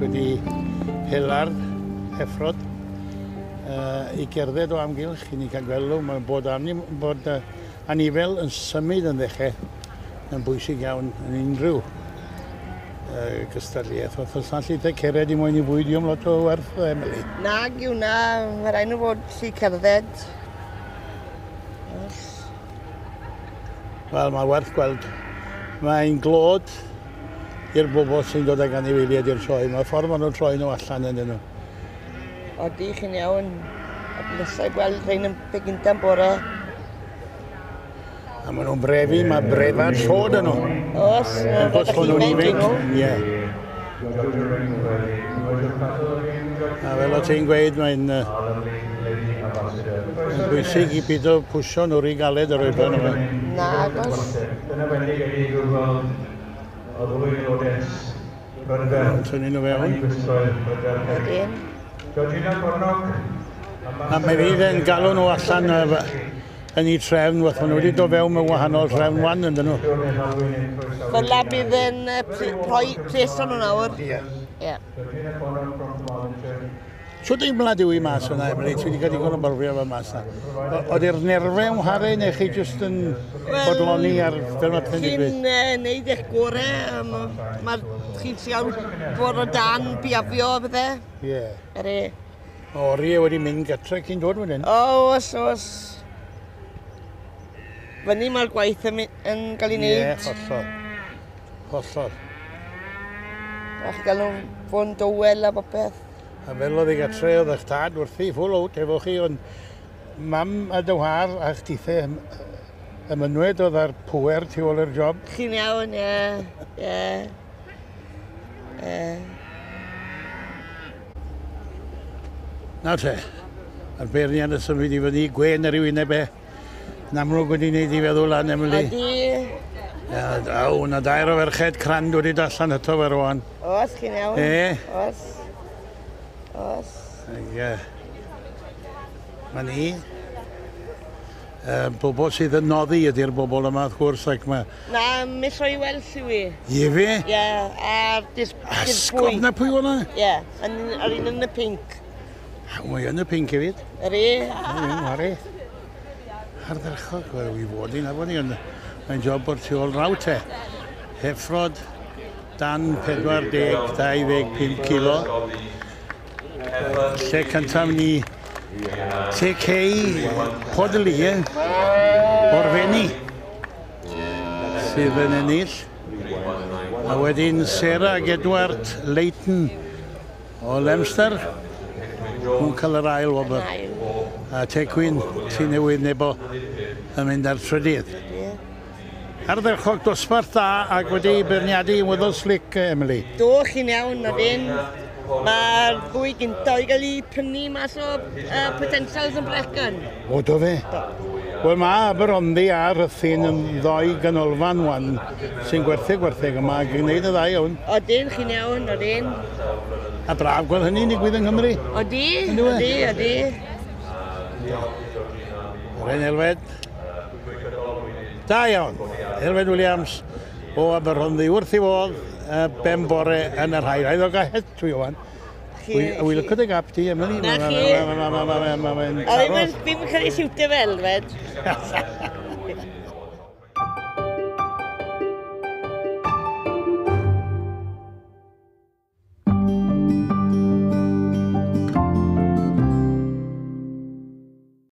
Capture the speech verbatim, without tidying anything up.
wedi hela'r heffrod uh, i gerdded o amgylch i ni cael gweld nhw. Mae'n bod, anim, bod uh, anifel yn symud yn ddechrau yn bwysig iawn yn unrhyw uh, gystadleuaeth. Wrth os allu te cered i mwyn i fwyd i lot o werth, Emily. Nag yw na, mae rhaid nhw fod lli cerdded. Yes. Wel, mae werth gweld. Mae'n glod i'r bobl sy'n dod ag anifeiliaid i'r sioe. Mae'r ffordd maen nhw'n troi nhw allan yn nhw. Odi, chi'n iawn. A blesau gweld rhain yn pe gynta'n bore. A maen nhw'n brefu, mae brefad llod yn nhw. Oes, Wrth gwrs bod nhw'n ifanc. Ie. A fel o ti'n gweud, mae'n uh, bwysig i beidio pwysio nhw rhy galed yr oedran yma. Na, agos. Tynnu nhw fewn. Ydyn. A mae fydd yn galw nhw allan yn eu trefn, wrth maen nhw wedi dod fewn mewn wahanol trefn wan, ydyn nhw. Fel la bydd yn rhoi pleso nhw nawr. Ie. Ie. Shwt deimlad yw i mas yna, Emily? Ti wedi cael digon o brofiad fel mas yna. Oedd i'r nerfau yn whare neu chi jyst yn bodloni ar fel mae pethau'n digwydd? Chi'n uh, neud eich gorau. Um, Mae'r chi'n trial bod o dan biafio a bethau. Ie. Ere. Mae oriau wedi mynd gatre cyn dod wedyn. O, oes, oes. Fyny mae'r gwaith yn, yn cael ei wneud. Ie, hollol. Hollol. A chi gael nhw fod yn dywel a popeth. A fel oedd ei gatre oedd eich tad wrthi, full out efo chi, ond mam a dy whar a chdithe y mynwed oedd ar pwer tu ôl i'r job. Chi'n iawn, ie, ie. Ie. Nawr te, a'r beirniad yn symud i fyny, gwen ar ei wyneb e. Yn amlwg wedi wneud i feddwl lan, Emily. Odi. Ia, aw, na dair o ferched crand wedi allan eto fe rwan. Oes, chi'n iawn. E. Oes. Oes. Ie. Mae ni. Uh, bobl sydd yn noddi ydy'r bobl yma, wrth gwrs, ac mae... Na, Miss Roy Wells yw i. Ie fe? Ie, a'r dis... Asgob na pwy o'na? Ie, a'r un yn y pink. Mae yn y pink hefyd. Yr e. Ie, ar e. Ardderchog, wel, i fod i'n afon i, ond mae'n job o'r tu ôl raw te. Heffrod dan pedwar deg dau ddeg pump kilo. Lle cyntaf ni T K Podlie o'r Fenni sydd yn ennill. A wedyn Sarah ac Edward Leighton o Lemster nhw'n cael yr ail wobr. A Tecwyn, ti newydd nebo yn mynd ar trydydd. Ardderchog dosbarth da ac wedi beirniadu yn weddol slick, Emily. Do, chi'n iawn, odyn. Mae'r ddwy gyntaf i gael ei prynu mas o uh, potentials yn Brecon. O, do fe? Do. Wel, mae Aberhonddu a Rhuthun yn ddoi ganolfan wan sy'n gwerthu gwertheg yma ac yn gwneud y ddau iawn. Odyn, chi'n iawn, odyn. A braf gweld hynny'n digwydd yng Nghymru. Odi, odi, odi. Yr Elfed. Da iawn. Elfed Williams o Aberhonddu wrth i fodd ben bore yn yr hair. Rhaid o gael het dwi o'n. Wy lyco dy gap ti, Emily. Na chi. Mae'n A ddim yn cael ei siwtio fel, Elfed.